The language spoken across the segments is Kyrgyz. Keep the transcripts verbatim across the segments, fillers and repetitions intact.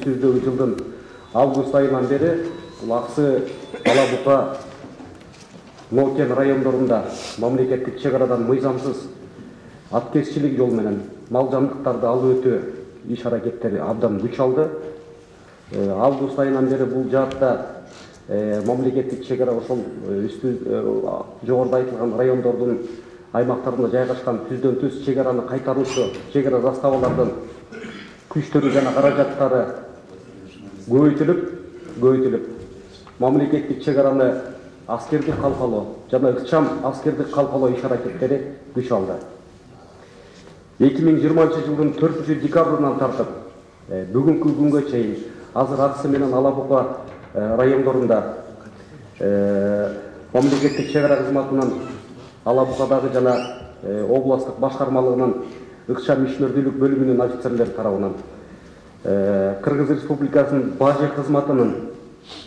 Жылдын август айынан бери Аксы, Ала Бука, Нокен райондорунда мамлекеттик чек арадан мыйзамсыз аткезчилик жол менен мал жандыктарды алып өтүү иш аракеттери абдан күч алды. Август айынан бери бул жаатта мамлекеттик чек ара ошол үстү жогоруда айтылган райондордун аймактарында жайгашкан түздөн түз чек араны кайтаруучу чек ара заставалардын күчтөрү жана каражаттары көбөйтүлүп, көбөйтүлүп, мамлекеттик чек араны аскердик калкалоо жана ыкчам аскердик калкалоо иш аракеттери күч алды. эки миң жыйырманчы жылдын төртүнчү декабрынан тартып, бүгүнкү күнгө чейин азыр Аксы менен Ала Бука райондорунда мамлекеттик чек ара кызматынын Ала Букадагы жана областтык башкармалыгынын ыкчам ишмердүүлүк бөлүмүнүн офицерлери тарабынан, Кыргыз Республикасынын бажы кызматынын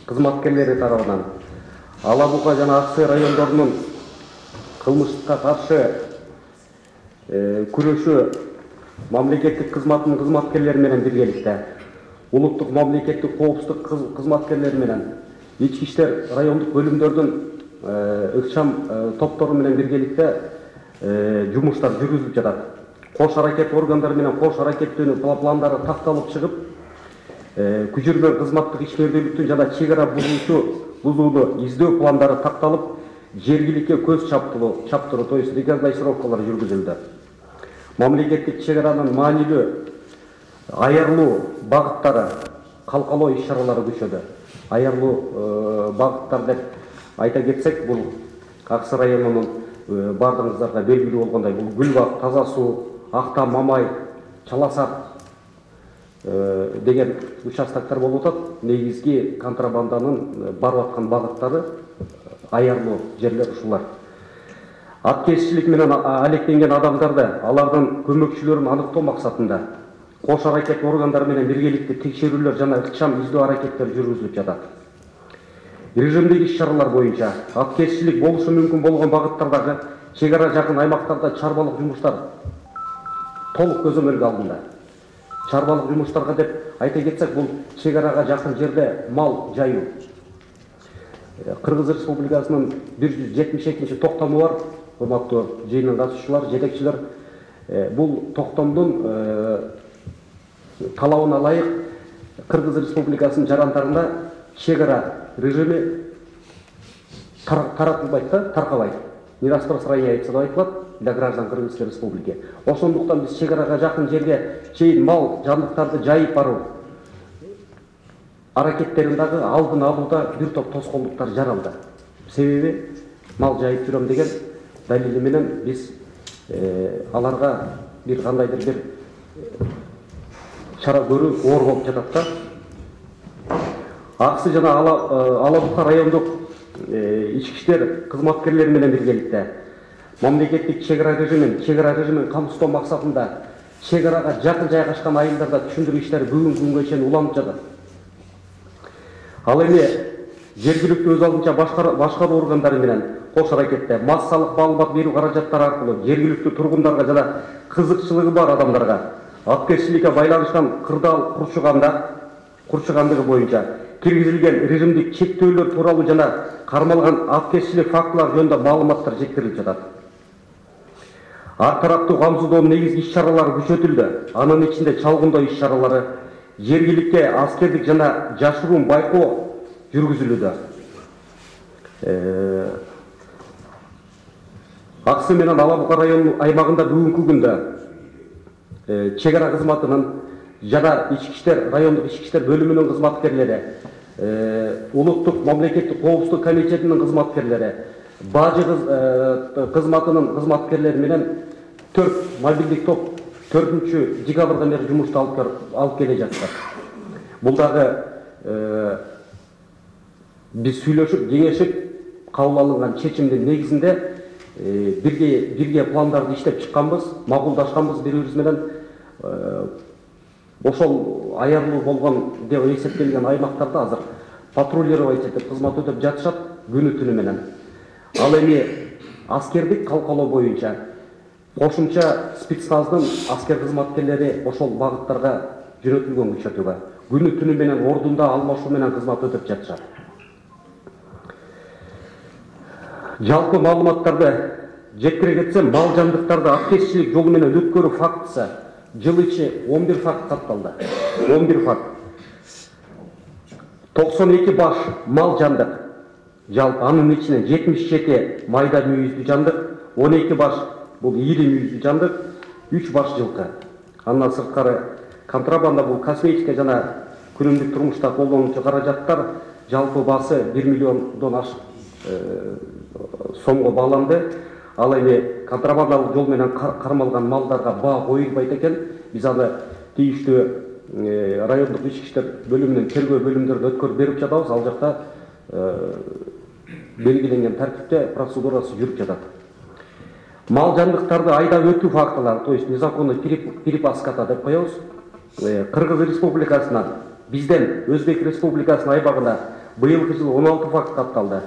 кызматкерлери тарабынан, Ала Бука жана Аксы райондорунун кылмышка каршы күрөшүү мамлекеттик кызматынын кызматкерлери менен биргеликте, улуттук мамлекеттик коопсуздук кызматкерлери менен, ички иштер райондук бөлүмдөрдүн ыкчам топтору менен биргеликте жумуштар жүргүзүлүп жатат. Кош аракет органдары менен кош аракеттөөнүн пландары такталып чыгып, күчүрмө кызматтык ишмердүүлүктүн жана чек ара бузууну издөө пландары такталып, жергиликке көз чаптыруу, то есть рекогносцировкалар жүргүзүлдү. Мамлекеттик чек аранын маанилүү аярлуу багыттары, калкалоо иш чаралары күчөдү. Аярлуу багыттар деп айта кетсек, бул Аксы районунун бардыгыңыздарга белгилүү болгондой, бул Гүлбак, Таза суу, Акта, Мамай, Чаласак деген участоктор болуп атат. Негизги контрабанданын барып аткан багыттары аярлуу жерлер ушулар. Аткезчилик менен алектенген адамдарды, алардын көмөкчүлөрүн аныктоо максатында кош аракет органдары менен биргеликте текшерүүлөр жана ыкчам издөө аракеттер жүргүзүлүп жатат. Режимдеги иш чаралар боюнча аткезчилик болушу мүмкүн болгон багыттардагы чек ара жакын аймактарда чарбалык жумуштар толук көзөмөлгө алынды. Чарбалык жумуштарга деп айта кетсек, бул чек арага жакын жерде мал жайуу. Кыргыз Республикасынын бир жүз жетимиш экинчи токтому бар, урматтуу жыйынга катышуучулар, жетекчилер. Бул токтомдун талабына ылайык Кыргыз Республикасынын жарандарында чек ара режими таратылбайт да, таркабайт. Не распространяется деп айтылат для граждан Кыргызской Республики. Ошондуктан биз чек арага жакын жерге чейин мал жандыктарды жайып баруу аракеттерин дагы алдын алууда бир топ тоскоолдуктар жаралды. Себеби мал жайып жүрөм деген далили менен биз аларга бир кандайдыр бир чара көрүү оор болуп жатат да. Аксы жана Ала Бука райондук ички иштер кызматкерлери менен биргеликте мамлекеттик чек ара режимин, чек ара режимин камсыздоо максатында чек арага жакын жайгашкан айылдарда түшүндүрүү иштери бүгүнкү күнгө чейин уланып жатат. Ал эми жергиликтүү өз алдынча башкаруу органдары менен кош аракетте массалык маалымат берүү каражаттары аркылуу жергиликтүү тургундарга жана кызыкчылыгы бар адамдарга аткезчиликке байланышкан кырдаал курчуганда курчугандыгы боюнча киргизилген режимдик чектөөлөр тууралуу жана кармалган аткезчилик фактылар жөнүндө маалыматтар жеткирилип жатат. Ар тараптуу камсыздоонун негизги иш чаралары күчөтүлдү. Анын ичинде чалгындоо иш чаралары, жергиликке аскердик жана жашыруун байкоо жүргүзүлүүдө. Аксы менен Ала Бука районунун аймагында бүгүнкү күндө чек ара кызматынын жана ички иштер райондук ички иштер бөлүмүнүн кызматкерлери, улуттук мамлекеттик коопсуздук комитетинин кызматкерлери, бажы кызматынын кызматкерлери менен төрт мобилдик топ төртүнчү декабрдан бери жумушту алып келе жатат. Бул дагы биз сүйлөшүп, кеңешип кабыл алынган чечимдин негизинде бирге бирге пландарды иштеп чыкканбыз, макулдашканбыз бири-бирибиз менен. Ошол аярлуу болгон деп эсептелген аймактарда азыр патрулировать этип кызмат өтөп жатышат күнү түнү менен. Ал эми аскердик калкалоо боюнча кошумча спецназдын аскер кызматкерлери ошол багыттарга жөнөтүлгөн күчөтүүгө. күнү түнү менен ордунда алмашуу менен кызмат өтөп жатышат. Жалпы маалыматтарды жеткире кетсем, мал жандыктарды аткезчилик жолу менен өткөрүү фактысы жыл ичи он бир факт катталды. он бир факт. токсон эки баш мал жандык. Жалпы анын ичинен жетимиш жети майда мүйүздүү жандык, он эки баш бул ири мүйүздүү жандык, үч баш жылкы. Андан сырткары контрабанда бул косметика жана күнүмдүк турмушта колдонуучу каражаттар жалпы баасы бир миллиондон ашык сомго бааланды. Ал эми контрабандалык жол менен кармалган малдарга баа коюлбайт экен. Биз аны тийиштүү райондук ички иштер бөлүмүнүн тергөө бөлүмдөрүнө өткөрүп берип жатабыз. Ал жакта белгиленген тартипте процедурасы жүрүп жатат. Мал жандыктарды айдап өтүү фактылары, то есть незаконный перепаската деп коебуз. Кыргыз Республикасынан бизден Өзбек Республикасынын айбагына быйылкы жылы он алты факт катталды.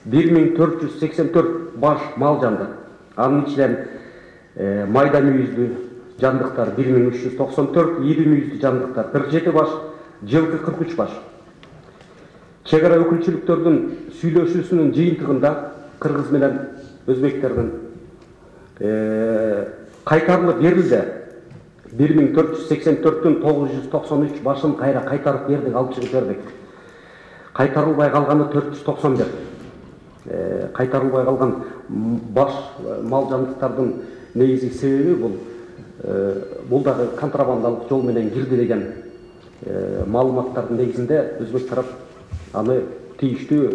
бир миң төрт жүз сексен төрт баш мал жандык. Анын ичинен майда мүйүздүү жандыктар бир миң үч жүз токсон төрт, ири мүйүздүү жандыктар кырк жети баш, жылкы кырк үч баш. Чек ара өкүлчүлүктөрдүн сүйлөшүүсүнүн жыйынтыгында кыргыз менен өзбектердин кайтарылып берилди. бир миң төрт жүз сексен төрттүн тогуз жүз токсон үч башын кайра кайтарып бердик, алып чыгып бердик. Кайтарылбай калганы төрт жүз токсон бир. Кайтарылбай калган баш мал жандыктардын негизги себеби бул бул дагы контрабандалык жол менен кирди деген маалыматтардын негизинде өзбек тарап аны тийиштүү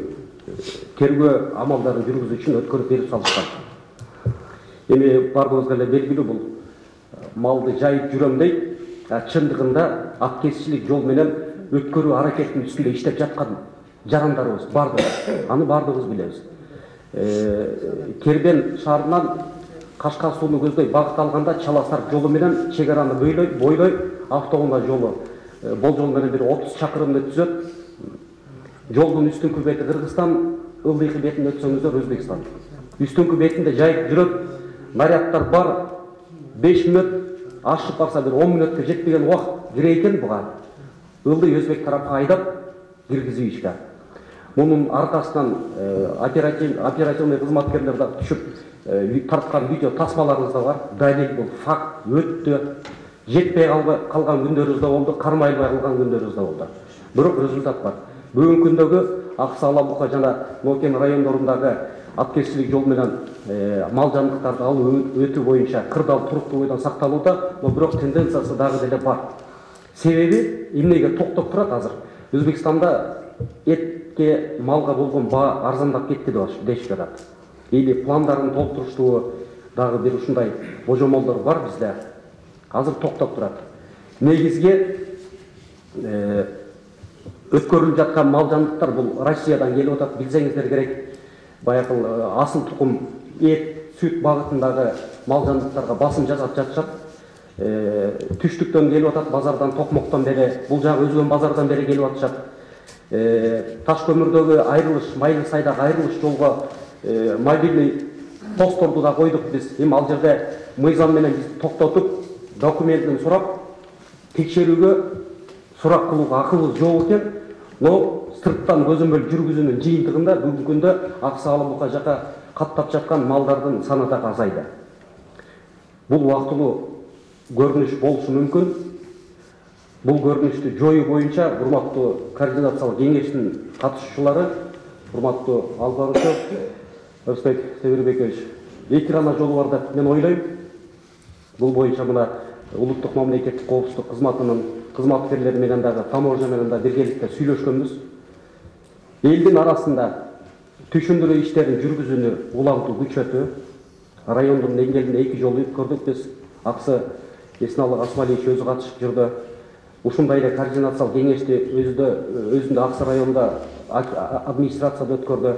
тергөө амалдарын жүргүзүү үчүн өткөрүп берип салышкан. Эми бардыгыбызга эле белгилүү, бул малды жайып жүрөм дейт, чындыгында аткезчилик жол менен өткөрүү аракетинин үстүндө иштеп жаткан жарандарыбыз бардыгы. Аны бардыгыбыз билебиз. Кербен шаарынан Кашкар сууну көздөй багыт алганда Чаласар жолу менен чек араны бойлой, бойлой автоунаа жолу болжол менен бир отуз чакырымды түзөт. Жолдун үстүнкү бети Кыргызстан, ылдыйкы бетин өтсөңүздөр Өзбекстан. Үстүнкү бетинде жайып жүрөт, нарядтар бар, беш мүнөт, ашып барса бир он мүнөткө жетпеген убакыт кире экен буга. Ылдый Өзбек тарапка айдап киргизүү ишке. Мунун аркасынан оперативный кызматкерлер да түшүп тарткан видео тасмаларыбыз да бар. Далил бул факт өттү. Жетпей калган күндөрүбүз да болду, кармайлбай калган күндөрүбүз да болду. Бирок результат бар. Бүгүнкү күндөгү Аксы, Ала Бука жана Нокен райондорундагы аткезчилик жол менен мал жандыктарды алып өтүү боюнча кырдаал туруктуу бойдон сакталууда, но бирок тенденциясы дагы деле бар. Себеби эмнеге токтоп турат азыр? Өзбекстанда этке, малга болгон баа арзандап кетти дешип жатат. Или пландарын толтуруштуу дагы бир ушундай божомолдор бар бизде. Азыр токтоп турат. Негизги өткөрүлүп жаткан мал жандыктар бул Россиядан келип атат, билсеңиздер керек. Баягы асыл тукум эт, сүт багытындагы мал жандыктарга басым жасап жатышат. Түштүктөн келип атат, базардан, Токмоктон бери, бул жагы өзгөн базардан бери келип атышат. Таш көмүрдөгү айрылыш, Майлы сайдагы айрылыш жолго мобильный постторду да койдук биз. Эми ал жерде мыйзам менен биз токтотуп, документин сурап, текшерүүгө, сурак кылууга акыбыз жок экен. Но сырттан көзөмөл жүргүзүүнүн жыйынтыгында бүгүнкү күндө Аксы, Ала Бука жака каттап жаткан малдардын саны да азайды. Бул убактылуу көрүнүш болушу мүмкүн. Бул көрүнүштү жоюу боюнча урматтуу координациялык кеңештин катышуучулары, урматтуу албанычы Özbek Temirbekovич, экирана жолу бар деп мен ойлойм. Бул боюнча мына улуттук мамлекеттик коопсуздук кызматынын кызматкерлери менен дагы, таможня менен да биргеликте сүйлөшкөнбүз. Элдин арасында түшүндүрүү иштерин жүргүзүүнү улантуу күчөтүү. Райондун деңгээлинде эки жолу өткөрдүк биз. Аксы Эсналык Асмалиевич өзү катышып жүрдү. Ушундай эле координациялык кеңешти өзүндө өзүндө Аксы районунда администрацияда өткөрдү.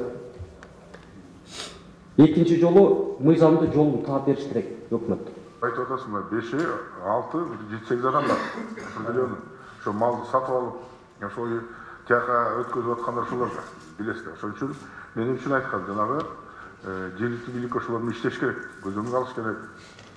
Экинчи жолу мыйзамды жолун таап бериш керек өкмөт. Айтып атасың, беш, алты, жети, сегиз адам бар. Определенно. Ошо малды сатып алып, ошол тияка өткөзүп аткандар ошолор билесиздер. Ошон үчүн мен үчүн айткан жанагы жергиликтүү бийлик ошолор менен иштеш керек, көзөмөл алыш керек.